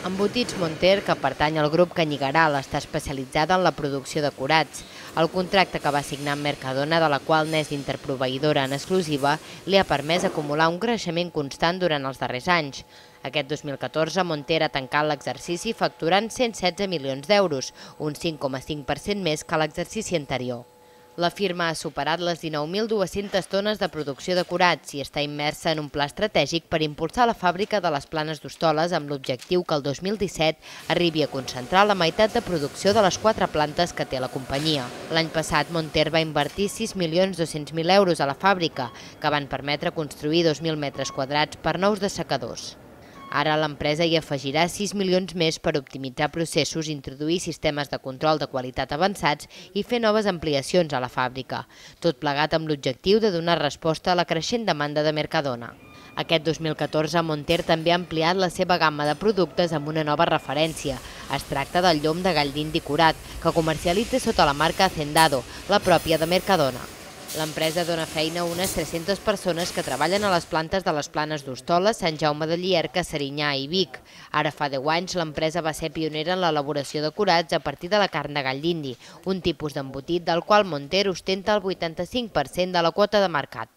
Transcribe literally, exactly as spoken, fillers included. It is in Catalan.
Embotits Monter, que pertany al grup Canyigaral, està especialitzada en la producció de curats. El contracte que va signar amb Mercadona, de la qual n'és interproveïdora en exclusiva, li ha permès acumular un creixement constant durant els darrers anys. Aquest dos mil catorze, Monter ha tancat l'exercici facturant cent setze milions d'euros, un cinc coma cinc per cent més que l'exercici anterior. La firma ha superat les dinou mil dues-centes tones de producció de curats i està immersa en un pla estratègic per impulsar la fàbrica de les Planes d'Hostoles amb l'objectiu que el dos mil disset arribi a concentrar la meitat de producció de les quatre plantes que té la companyia. L'any passat, Monter va invertir sis milions dos-cents mil euros a la fàbrica, que van permetre construir dos mil metres quadrats per nous dessecadors. Ara l'empresa hi afegirà sis milions més per optimitzar processos, introduir sistemes de control de qualitat avançats i fer noves ampliacions a la fàbrica, tot plegat amb l'objectiu de donar resposta a la creixent demanda de Mercadona. Aquest dos mil catorze, Monter també ha ampliat la seva gamma de productes amb una nova referència. Es tracta del llom de gall d'indi curat, que comercialitza sota la marca Hacendado, la pròpia de Mercadona. L'empresa dona feina a unes tres-centes persones que treballen a les plantes de les Planes d'Hostoles, Sant Jaume de Llierca, Serinyà i Vic. Ara fa deu anys l'empresa va ser pionera en l'elaboració de curats a partir de la carn de gall d'indi, un tipus d'embotit del qual Monter ostenta el vuitanta-cinc per cent de la quota de mercat.